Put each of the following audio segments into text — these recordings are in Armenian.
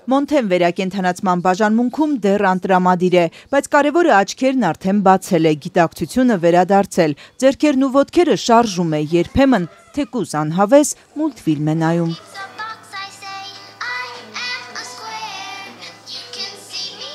Մոնթեն վերակենդանացման բաժանմունքում դեռ անտրամադիր է, բայց կարևորը աչքերն արդեն բացել է, գիտակցությունը վերադարձել, ձեռքերն ու ոտքերը շարժում է, երբեմն թեկուզ անհավես մուլտֆիլմ է նայում։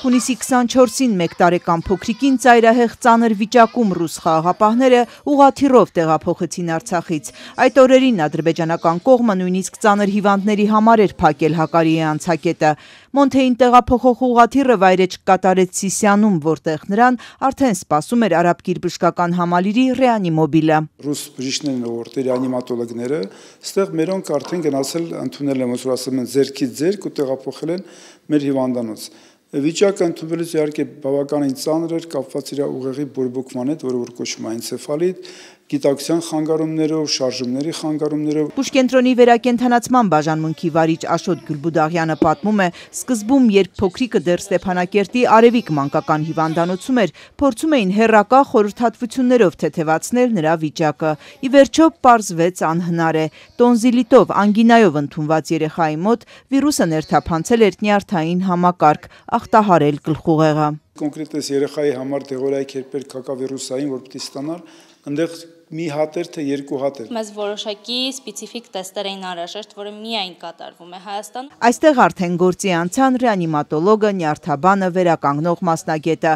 Հունիսի 24-ին 1 տարեկան փոքրիկին ծայրահեղ ծանր վիճակում ռուս խաղաղապահները ուղղաթիռով տեղափոխեցին Արցախից։ Այդ օրերին ադրբեջանական կողմը նույնիսկ ծանր հիվանդների համար էր փակել Հակարիի անցակետը։ Մոնթեին տեղափոխող ուղղաթիռը վայրէջք կատարեց Սիսիանում, որտեղ նրան արդեն սպասում էր արաբկիր բժշկական համալիրի ռեանիմոբիլը։ Ռուս բժիշկներն ու ռեանիմատոլոգները ստեղ մերոնք արդեն գնացել ընդունել են, ոնց որ ասում են, ձերքից ձերք ու տեղափոխել են մեր հիվանդանոց։ Վիճակը ընդունվելուց իհարկե բավականին ծանր էր, կապված իր ուղեղի բորբոքման հետ, որը որ կոչվում է էնցեֆալիտ, գիտակցության խանգարումներով, շարժումների խանգարումներով։ Բուժկենտրոնի վերակենդանացման բաժանմունքի վարիչ Աշոտ Գյուլբուդաղյանը պատմում է, սկզբում, երբ փոքրիկը դեռ Ստեփանակերտի Արևիկ մանկական հիվանդանոցում էր, փորձում էին հեռակա խորհրդատվություններով թեթևացնել նրա վիճակը։ Ի վերջո պարզվեց անհնար է։ Տոնզիլիտով, անգինայով ընդունված երեխայի մոտ վիրուսը ներթափանցել էր նյարդային համակարգ, ախտահարել գլխուղեղը։ Կոնկրետ այս երեխայի համար դեղորայք երբեր կակավիրուսային, որ պիտի ստանար, այնտեղ մի հատ էր, թե երկու հատ էր։ Մեզ որոշակի սպეციფიկ տեստեր էին անհրաժեշտ, որը միայն կատարվում է Հայաստանում։ Այստեղ արդեն գործի անցան ռեանիմատոլոգը, նյարդաբանը, վերականգնող մասնագետը։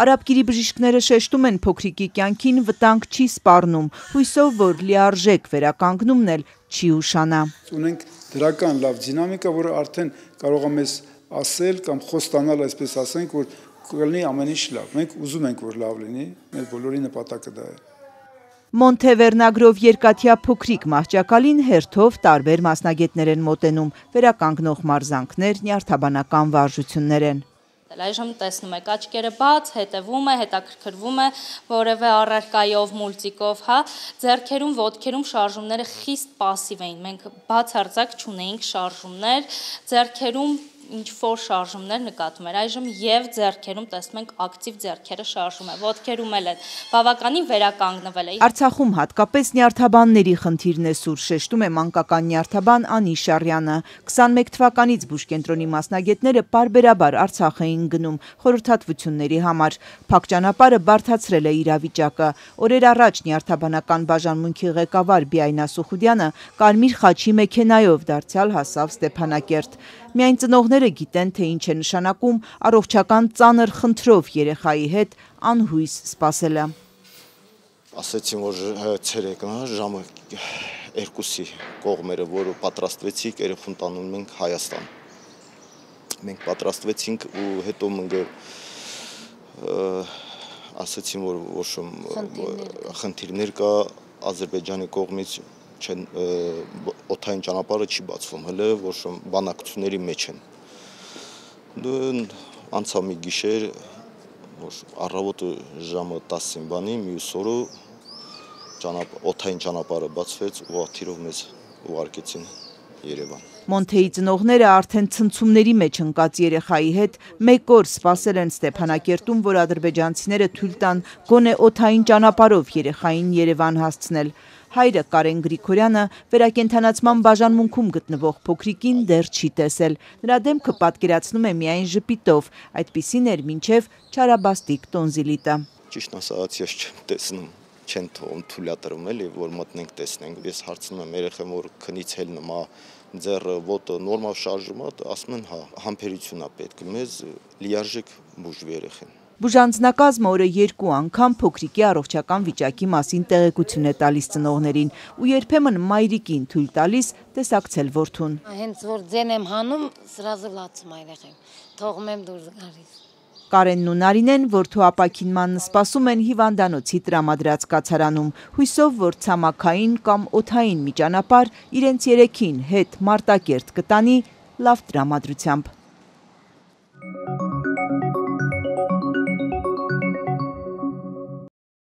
Արաբկիրի բժիշկները շեշտում են, փոքրիկի կյանքին վտանգ չի սպառնում, հույսով, որ լիարժեք վերականգնումն էլ չի ուշանա։ Ունենք դրական լավ դինամիկա, որը արդեն կարող է մեզ ասել կամ խոստանալ, այսպես ասենք, որ կլինի ամեն ինչ լավ։ Մենք ուզում ենք, որ լավ լինի, մեր բոլորի նպատակը դա է։ Մոնթե վերնագրով երկաթյա փոքրիկ մահճակալին հերթով տարբեր մասնագետներ են մոտենում, վերականգնող մարզանքներ, նյարդաբանական վարժություններ են։ Այժմ տեսնում եք աչքերը բաց, հետևում է, հետաքրքրվում է որևէ առարկայով, մուլտիկով, հա, ձեռքերում, ոտքերում շարժումները խիստ պասիվ էին, մենք բացարձակ չունեինք շարժումներ, ձեռքերում ինչ-որ շարժումներ նկատում էր, այժմ եւ ձեռքերում տեսնում ենք ակտիվ ձեռքերը շարժում է, ոտքերում էլ բավականին վերականգնվել է։ Արցախում հատկապես նյարդաբանների խնդիրն է սուր, շեշտում է մանկական նյարդաբան Անի Շարյանը։ 21 թվականից բուժկենտրոնի մասնագետները պարբերաբար Արցախ էին գնում խորհրդատվությունների համար։ Փակ ճանապարհը բարդացրել է իրավիճակը։ Օրեր առաջ նյարդաբանական բաժանմունքի ղեկավար Բիայնա Սուխուդյանը կարմիր խաչի մեքենայով դարձյալ հասավ Ստեփանակերտ։ Միայն ծնողները գիտեն, թե ինչ է նշանակում առողջական ծանր խնդրով երեխայի հետ անհույս սպասելը։ Ասեցին, որ ցերեկը ժամը 2-ի կողմերը, որը պատրաստվեցիք, երեխուն տանում ենք Հայաստան։ Մենք պատրաստվեցինք ու հետո մնգը ասեցին, որ ոչ խնդիրներ կա Ադրբեջանի կողմից օդային ճանապարհը չի բացվում, հələ որ բանակցությունների մեջ են։ Անցավ մի գիշեր, որ առավոտը ժամը 10-ին բանի, մյուս օրը օդային ճանապարհը բացվեց ու աթիրով մեզ ուղարկեցին Երևան։ Մոնթեի ծնողները արդեն ցնցումների մեջ ընկած երեխայի հետ մեկ օր սպասել են Ստեփանակերտում, որ ադրբեջանցիները թույլ տան գոնե օդային ճանապարհով երեխային Երևան հասցնել։ Հայրը Կարեն Գրիգորյանը վերակենդանացման բաժանմունքում գտնվող փոքրիկին դեռ չի տեսել։ Նրա դեմքը պատկերացնում է միայն ժպիտով, այդպիսին էր մինչև չարաբաստիկ տոնզիլիտը։ Ճիշտ ասած, ես չեմ տեսնում, չեն թողում թույլատրում էլի, որ մտնենք տեսնենք։ Ես հարցնում եմ երեխան, որ քնից հելնում է, ձեռը, ոտը նորմալ շարժում է, ասում են, հա, համբերություն է պետք, մեզ լիարժեք բուժվի երեխան։ Բուժանձնակազմը օրը 2 անգամ փոքրիկի առողջական վիճակի մասին տեղեկություն է տալիս ծնողներին ու երբեմն մայրիկին թույլ տալիս տեսակցել որդուն։ Հենց որ ձեն եմ հանում, սրազը լացում երեխային, թողում եմ դուրս գալիս։ Կարենն ու Նարինեն որդու ապաքինմանն սպասում են հիվանդանոցի տրամադրած կացարանում, հույսով, որ ցամաքային կամ օդային մի ճանապարհ իրենց երեքին հետ Մարտակերտ կտանի լավ տրամադրությամբ։